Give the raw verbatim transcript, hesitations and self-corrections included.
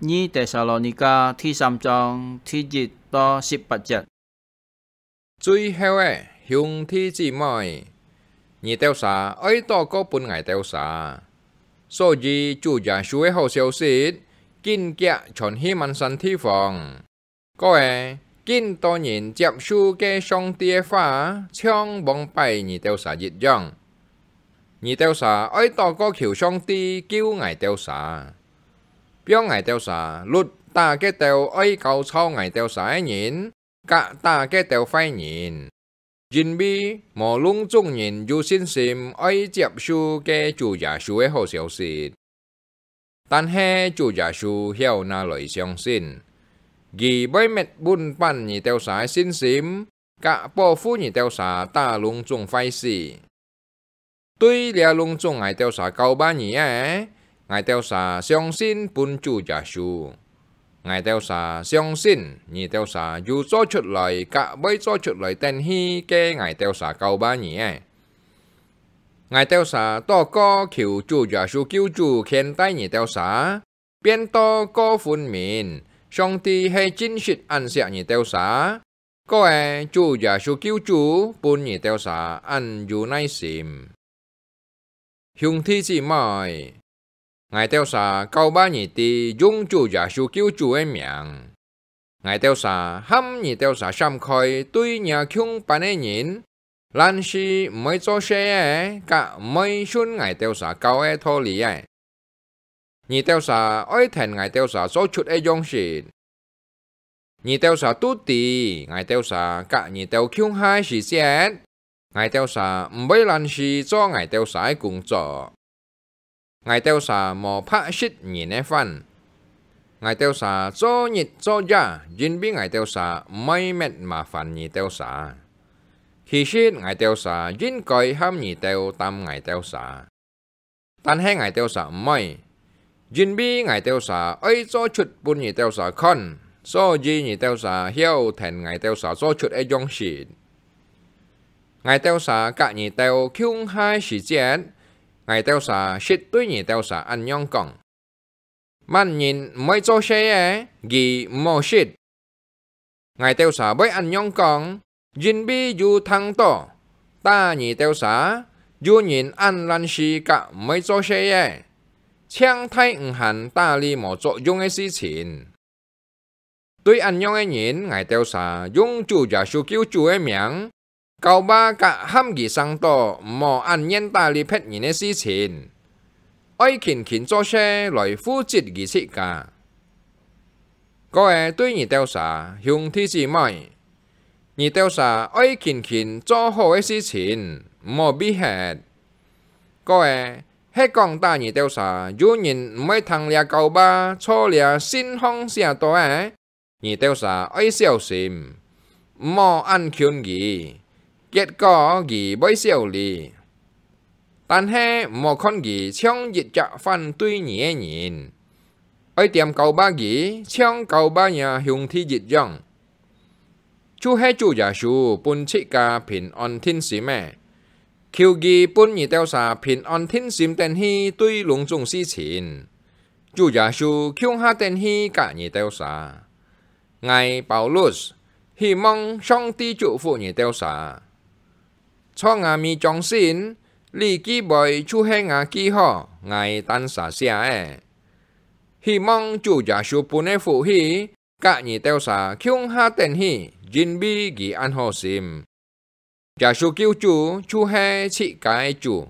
二帖撒羅尼迦第三章第一到十八節。最後个，兄弟姊妹，你兜儕愛禱告分𠊎兜儕。所以主耶穌个好消息，緊遽傳去滿山地方。 過仔，緊多人接受該上帝个話，像往擺你兜儕一樣。你兜儕愛禱告求上帝救𠊎兜儕，放𠊎兜儕律打該兜愛攪吵𠊎兜儕个人，佮打該兜壞人。 因為無攏總人有信心愛接受該主耶穌个好消息。但係主耶穌曉哪來相信，佢會搣穩板你兜儕个信心，佮保護你兜儕打攏總壞事。 對這攏總𠊎兜儕教爸你个，𠊎兜儕相信分主耶穌。𠊎兜儕相信你兜儕有做出來佮會做出來等去个𠊎兜儕教爸你个。𠊎兜儕禱告求主耶穌救主牽帶你兜儕，變到過分明，上帝係真實恁惜你兜儕， 過仔主耶穌救主分你兜儕恁有耐心。兄弟姊妹，𠊎兜儕教爸你知用主耶穌救主个名。𠊎兜儕喊你兜儕閃開對若共班个人， 爛事毋會做事个，佮毋會順𠊎兜儕教个道理个。你兜儕愛跈𠊎兜儕做出个樣式。你兜儕都知，𠊎兜儕佮你兜共下个時節，𠊎兜儕毋會爛事做𠊎兜儕个工作。 𠊎兜儕無白食人个飯。𠊎兜儕做日做夜，因為𠊎兜儕毋愛搣麻煩你兜儕。其實𠊎兜儕應該喊你兜擔𠊎兜儕，但係𠊎兜儕毋愛，因為𠊎兜儕愛做出分你兜儕看，所以你兜儕曉跈𠊎兜儕做出个樣式。 𠊎兜儕佮你兜共下个時節，𠊎兜儕識對你兜儕恁樣講：「麼人毋會做事个，佢毋好食。」𠊎兜儕會恁樣講，因為有聽著，打你兜儕，有人恁爛事佮毋會做事个，淨大毋還打理無作用个事情。 對恁樣个人，𠊎兜儕用主耶穌救主个名，教爸佮喊佢省著毋好恁願打理別人个事情，愛勤勤做事來負責佢自家。過仔對你兜儕，兄弟姊妹，你兜儕愛勤勤做好个事情，毋好避忒。過仔， 係講打你兜儕，有人毋會聽這教爸，照這信項寫著个，你兜儕愛小心，毋好恁近佢，結果佢會笑你。但係毋好看佢像一隻反對你个人，愛恬教爸佢，像教爸若兄弟一樣。 就係主耶穌分自家平安定心个，求佢分你兜儕平安定心等去對攏總事情。主耶穌共下等去佮你兜儕。𠊎Paulus，希望上帝祝福你兜儕。在𠊎尾張信，這記杯就係𠊎記好，𠊎單儕寫个。希望主耶穌分个福氣， 佮你兜儕共下等去，因為佢恁好心。耶穌救主就係自家个主，